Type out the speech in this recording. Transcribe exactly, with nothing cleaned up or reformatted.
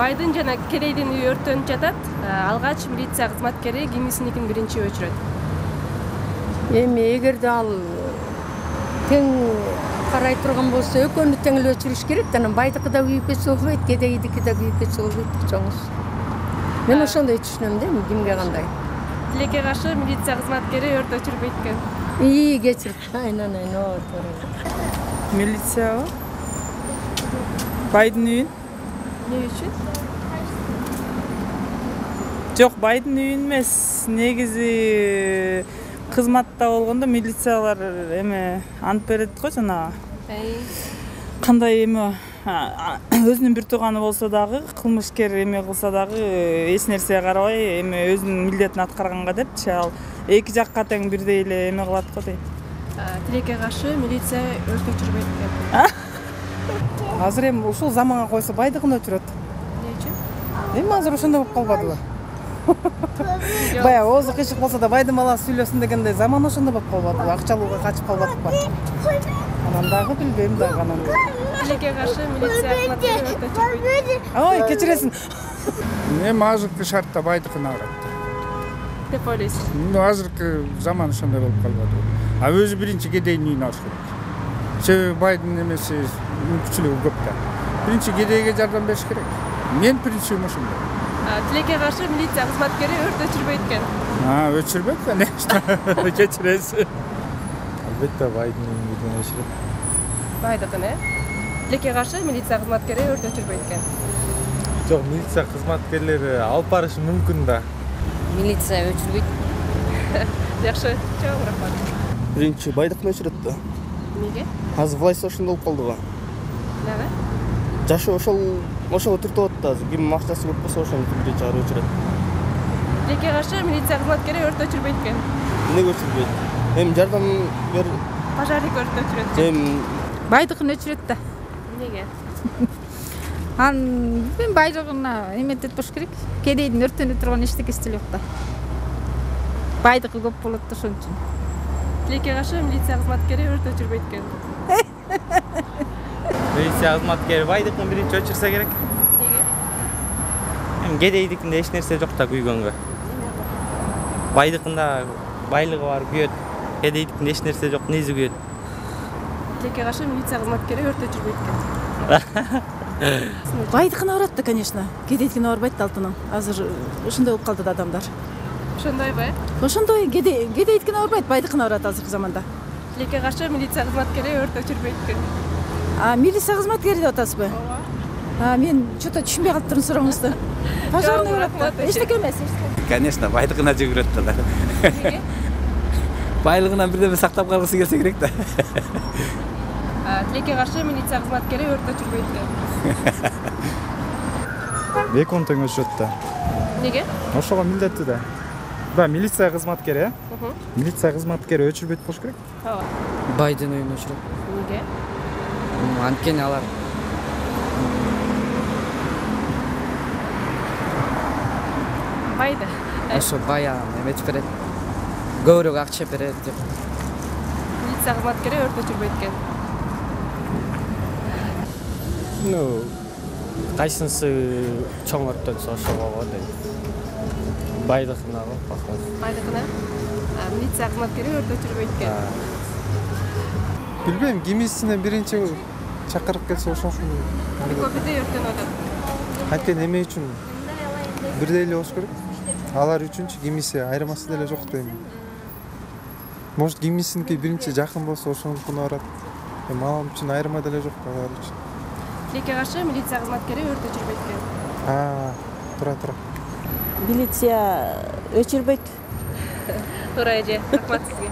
Байдын жана Кедейдин үйү өрттөнүп жатат. Алгач милиция кызматкери кимисиникин биринчи өчүрөт? Эми эгерде ал тең карай турган болсо, экөөнү тең эле өчүрүш керек да, анан байдыкы да күйүп кетсе болбойт, кедейдики да күйүп кетсе болбойт чоңуз. Мен ошондой түшүнөм да, кимге кандай. Тилекке каршы милиция кызматкери өрт өчүрбөйт экен. Ии, кечирип. Айнан айнан, оо, туура. Милиция байдын үйүн? Эмне үчүн? Жок, байдын үйүн эмес. Негизи кызматта болгондо милициялар эме ант берет го жана. Кандай эме өзүнүн бир тууганы болсо дагы, кылмышкер эме кылса дагы эч нерсеге карабай эме өзүнүн милдетин аткарганга депчи, ал эки жакка тең бирдей эле эме кылат го дейм. Тилекке каршы милиция өрт өчүрбөйт экен. Азыр эми ушул заманга койсо байдыгын өчүрөт. Эмне үчүн? Эми азыр ошондой болуп калбадыбы? Баягы оозу кыйшык болсо да байдын баласы сүйлөсүн дегендей заман ошондой болуп калбадыбы? Акчалууга качып калбадыкпы? Анан дагы билбейм дагы анан. Тилекке каршы милиция кызматкери өрт өчүрбөйт. Ой, кечиресиң. Эми азыркы шартта байдыкын алат деп ойлойсуз? Азыркы заман ошондой болуп калбадыбы? А өзү биринчи кедейдин үйүн алыш керек. Себеби байдын эмеси мүмкүнчүлүгү көп да. Биринчи кедейге жардам бериш керек. Мен принцибим ошондой. Тилекке каршы милиция кызматкери өрт өчүрбөйт экен. А, өчүрбөйт, конечно. Кечиресиз. Албетте байдын үйүн өчүрөт. Байдыкын, э? Тилекке каршы милиция кызматкери өрт өчүрбөйт экен. Жок, милиция кызматкерлери алып барышы мүмкүн да. Милиция өчүрбөйт. Жакшы, чоң рахмат. Биринчи байдыкын өчүрөт да. Эмнеге? Азыр власть ошондой болуп калды го. Дагы? Жашы ошол ошого түртүп атат азыр. Ким акчасы көп болсо ошону биринчи чыгарып өчүрөт. Тилекке каршы милиция кызматкери өрт өчүрбөйт экен. Эмнеге өчүрбөйт? Эми жардам бер. Пожарник өрт өчүрөт. Эми байдыкын өчүрөт да. Эмнеге? Анын мен байлыгына эметет болуш керек. Кедейдин өрттөнүп турган эчтекеси деле жок да. Байдыгы көп болот да ошон үчүн. Тилекке каршы милиция кызматкери өрт өчүрбөйт экен. Милиция кызматкери байдыкын биринчи өчүрсө керек. Эмнеге? Эми кедейдикинде эч нерсе жок да күйгөнгө. Байдыкында байлыгы бар күйөт. Кедейдикинде эч нерсе жок, низи күйөт. Тилекке каршы милиция кызматкери өрт өчүрбөйт экен. Байдыкына барат да, конечно. Кедейдикине барбайт да алтыным. Азыр ошондой болуп калды да адамдар. Ошондойбу, э? Ошондой кедейдикине барбайт, байдыкына барат азыркы заманда. Тилекке каршы милиция кызматкери өрт өчүрбөйт экен. А милиция кызматкери деп атасызбы? Ооба. А мен что-то түшүнбөй калыптырмын сурооңузду. Пожарный барат. Эчтеке эмес. Конечно, байдыгына жүгүрөт да. Эмнеге? Байлыгынан бирдеме сактап калгысы келсе керек да. Тилекке каршы милиция кызматкери өрт өчүрбөйт экен. Эки он тең өчүрөт да. Эмнеге? Ошого милдеттүү да. Да, милиция кызматкери, э? Милиция кызматкери өчүрбөйт болуш керек. Ооба. Байдын үйүн өчүрөт. Эмнеге? Анткени алар Байды. ошо баягы эметип берет. Көбүрөөк акча берет деп. Милиция кызматкери өрт өчүрбөйт экен. Ну, кайсынысы чоң өрттөнсө ошого дейм. Байдыкына го, похож. Байдыкына? Милиция кызматкери өрт өчүрбөйт экен. Билбейм, кимисине биринчи чакырып келсе ошону. Көп бирдей өрттөнүп атат. Анткени эме үчүн бирдей эле болуш керек. Алар үчүнчү кимиси айырмасы деле жок дейм. Может, кимисиники биринчи жакын болсо ошонукуна барат. Эми ал үчүн айырма деле жок алар үчүн. Тилекке каршы милиция кызматкери өрт өчүрбөйт экен. А, тура тура. Милиция өчүрбөйт. Туура эже, рахмат сизге.